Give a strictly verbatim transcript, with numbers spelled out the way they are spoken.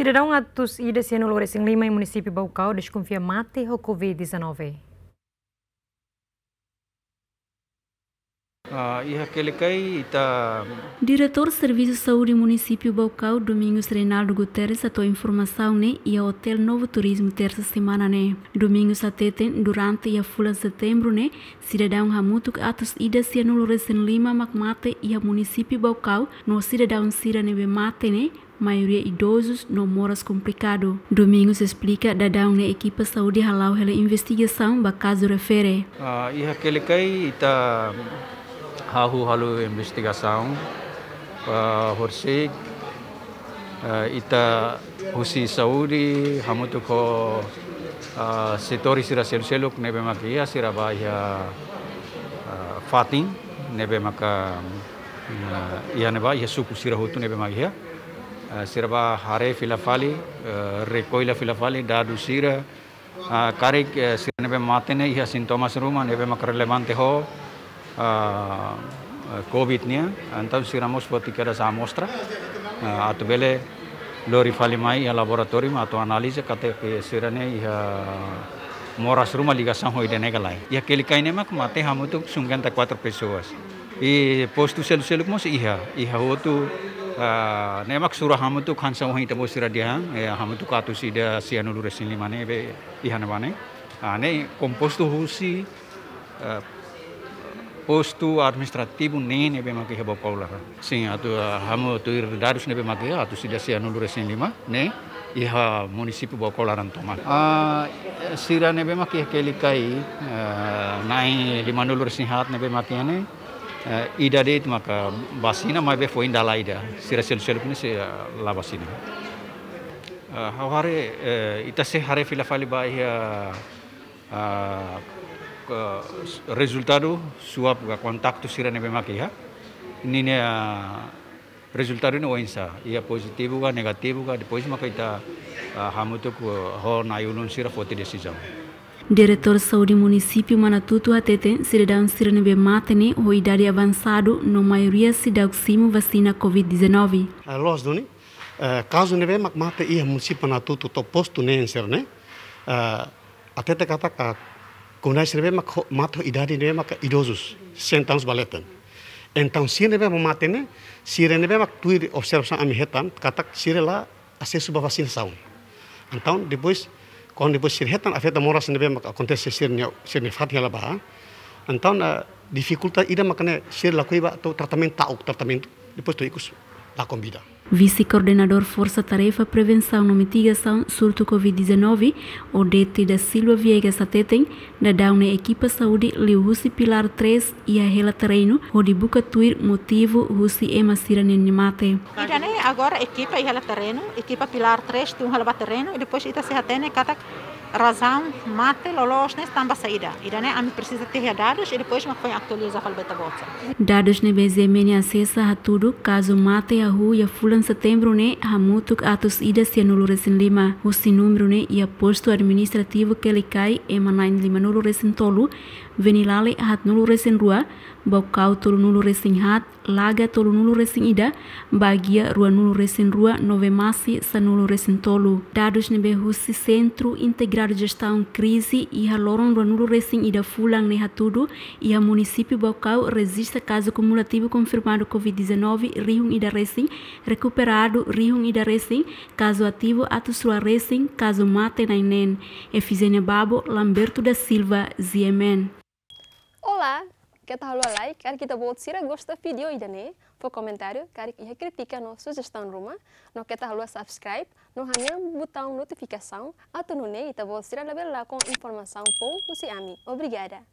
Sidadaun atus ida sianulu resin lima iha munisípiu Baucau deskonfia mate ho covid dezanove. Ah, iha Quelicai ita. Diretór Servisu Saúde Munisípiu Baucau, Domingos Reinaldo Guterres, hato'o informasaun ne'e iha Hotel Novo Turismo, tersa semana ne'e. Domingos hateten, durante iha fulan setembru ne'e, sidadaun hamutuk atus ida sianulu resin lima mak mate iha munisípiu Baucau, no sidadaun sira ne'ebé mate ne'e maioria idozus no moras komplikadu. Domingos esplika daudaun ne'e ekipa saúde hala'o hela investigasaun ba kazu refere. Ah, iha Quelicai ita hahú halo investigasaun, ah, horisehik, ah, ita husi saúde hamutuk ho, ah, setór sira seluk-seluk ne'ebé mak iha, sira bá iha, ah, fatin ne'ebé maka, ah, iha ne'ebá, iha suku sira hotu ne'ebé mak iha. Ah, sira bá haree fila fali, ah, rekolla fila fali dadus sira, ah, karik, eh, sira ne'ebé mate ne'e iha sintomas ruma ne'ebé mak relevante ho, ah, eh, covid nian, entaun sira mós foti kedas amostra, ah, atu bele lori fali mai iha laboratóriu atu analiza katak sira ne'e iha moras ruma ligasaun ho ida-ne'e ka lae. Iha Quelicai ne'e mak mate hamutuk cinquenta e quatro pessoas. I postu seluk-seluk mós iha, iha hotu, ah, ne'e mak sura hamutuk hanesan ohin ita-boot sira dehan, eh, hamutuk atus ida sianulu resin lima ne'ebé iha ne'ebá ne'e. Ah, ne'e kompostu husi, eh, postu administrativu neen ne'ebé mak iha Baucau laran. Sin, atu, ah, ha'u tuir dadus ne'ebé mak iha, atus ida sianulu resin lima ne'e iha munisípiu Baucau laran tomak. Ah, sira ne'ebé mak iha Quelicai, eh, na'in limanulu resin haat ne'ebé mak iha ne'e, eh, ida de'it maka vasina, maibé foin dala ida. Sira seluk-seluk ne'e sira la vasina. Eh, ha'u haree, eh, ita sei haree fila fali ba iha, ah, ke, rezultadu swab ka kontaktu sira ne'ebé mak iha. Ninia, ah, rezultadu ne'e oinsá, iha pozitivu ka negativu ka, depois maka ita, ah, hamutuk ho na'i-ulun sira foti desizaun. Diretór Saúde Munisípiu Manatuto hateten, sidadaun sira ne'ebé mate ne'e ho idade avansadu no maioria seidauk simu vasina covid dezanove. Ah, loos duni, eh, kazu ne'ebé mak mate iha munisípiu Manatuto to'o postu neen sira ne'e, eh, hatete katak komunidade sira ne'ebé mak ho, mate ho idade ne'ebé mak idozus, sessenta anos ba leten. Entaun sira ne'ebé mak mate ne'e, sira ne'ebé mak tuir observasaun ami hetan katak sira la asesu ba vasinasaun. Entaun depois, kuandu depois sira hetan afeta moras ne'ebé mak akontese sira-nia, sira-nia fatin hela ba. Entaun, eh, difikulta ida mak ne'e sira lakohi ba to'o tratamentu, ta'uk tratamentu, depois to'o ikus lakon vida. Vise-Koordenadór Forsa Tarefa Prevensaun no Mitigasaun Surtu covid dezanove, Odete da Silva Viegas hateten, daudaun ne'e ekipa saúde liuhusi pilár três iha hela terrenu hodi buka tuir motivu husi ema sira-nia mate. Ida-ne'e agora ekipa iha hela terrenu, ekipa pilár três tun hela ba terrenu, i depois ita sei hatene katak razaun mate loloos ne'e tanba saida. Ida-ne'e ami presiza teha dadus i depois mak foin atualiza fali ba ita-boot sira. Dadus ne'ebé Z M N asesa hatudu kazu mate hahú iha fulan setembru ne'e hamutuk atus ida sianulu resin lima. Husi númeru ne'e iha postu administrativu Quelicai ema na'in limanulu resin tolu, Venilale haatnulu resin rua, Baucau tolunulu resin haat, Laga tolunulu resin ida, Baguia ruanulu resin rua, no Vemasse sanulu resin tolu. Dadus ne'ebé husi Sentru Integradu Jestaun Krize iha loron ruanulu resin ida fulan ne'e hatudu, iha munisípiu Baucau rejista kazu kumulativu konfirmadu covid dezanove rihun ida resin, rekuperadu rihun ida resin, kazu ativu atus rua resin, kazu mate na'in neen. Efigénia Babo, Lamberto da Silva, Z M N. Olá, keta haluha like, karik ita-boot sira gosta vídeo ida-ne'e, fó komentáriu, karik iha krítika no sujestaun ruma, no keta haluha subscribe, no hanehan butaun notifikasaun, atu nune'e ita-boot sira labele lakon informasaun foun husi ami. Obrigada.